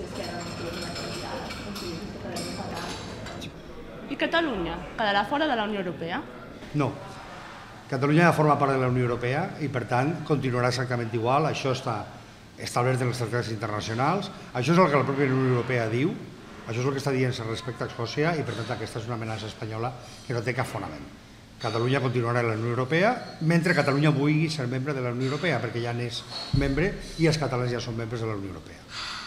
si Esquerra no tingués una candidat, consideres que quedaria separat? I Catalunya quedarà fora de la Unió Europea? No. Catalunya ja forma part de la Unió Europea i, per tant, continuarà exactament igual. Això està establert en els tractats internacionals. Això és el que la pròpia Unió Europea diu. Això és el que està dient respecte a Escòcia i, per tant, aquesta és una amenaça espanyola que no té cap fonament. Catalunya continuarà a la Unió Europea mentre Catalunya vulgui ser membre de la Unió Europea, perquè ja n'és membre i els catalans ja són membres de la Unió Europea.